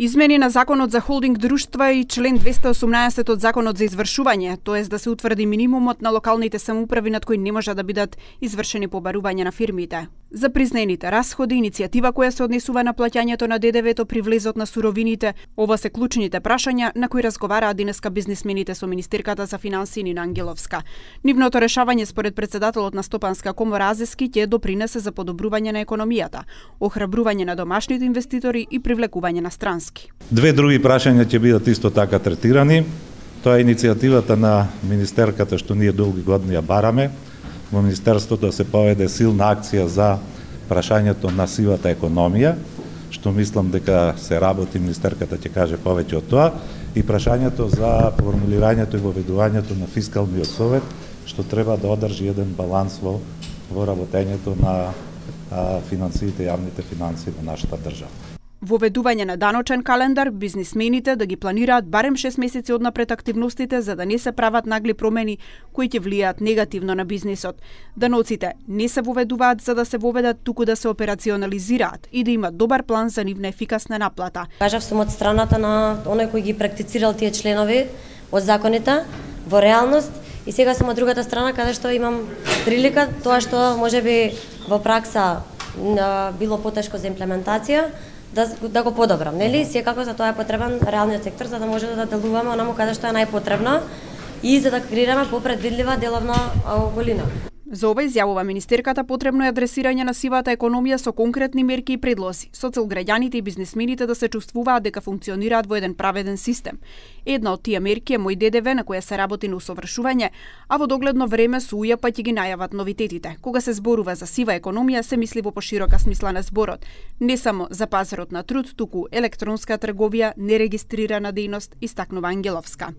Измени на Законот за холдинг друштва и член 218 од Законот за извршување, тоест да се утврди минимумот на локалните самоуправи над кои не може да бидат извршени побарување на фирмите. За признаените расходи, иницијатива која се однесува на плаќањето на ДДВ-то при влезот на суровините, ова се клучните прашања на кои разговараа денеска бизнисмените со министерката за финансии Нина Ангеловска. Нивното решавање според претседателот на Стопанска комора Азески ќе допринесе за подобрување на економијата, охрабрување на домашните инвеститори и привлекување на странски. Две други прашања ќе бидат исто така третирани. Тоа е иницијативата на министерката што ние долги години ја бараме, во Министерството да се поведе силна акција за прашањето на сивата економија, што мислам дека се работи, министерката ќе каже повеќе од тоа, и прашањето за формулирањето и воведувањето на фискалниот совет, што треба да одржи еден баланс во работењето на финансиите, јавните финансии во нашата држава. Воведување на даночен календар, бизнисмените да ги планираат барем 6 месеци однапред активностите за да не се прават нагли промени кои ќе влијаат негативно на бизнисот. Даноците не се воведуваат за да се воведат, туку да се операционализираат и да имат добар план за нивна ефикасна наплата. Кажав сум од страната на оној кој ги практицирал тие членови од законите во реалност и сега сум од другата страна каде што имам прилика тоа што можеби во пракса било потешко за имплементација да го подобрам, нели? Секако за тоа е потребен реалниот сектор за да може да делуваме онаму каде што е најпотребно и за да креираме попредвидлива деловна околина. За ова изјавува министерката потребно е адресирање на сивата економија со конкретни мерки и предлози, со цел граѓаните и бизнисмените да се чувствуваат дека функционираат во еден праведен систем. Една од тие мерки е Мој ДДВ на која се работи на усовршување, а во догледно време со УЈП ќе ги најават новитетите. Кога се зборува за сива економија, се мисли во поширока смисла на зборот, не само за пазарот на труд, туку електронска трговија, нерегистрирана дејност, истакнува Ангеловска.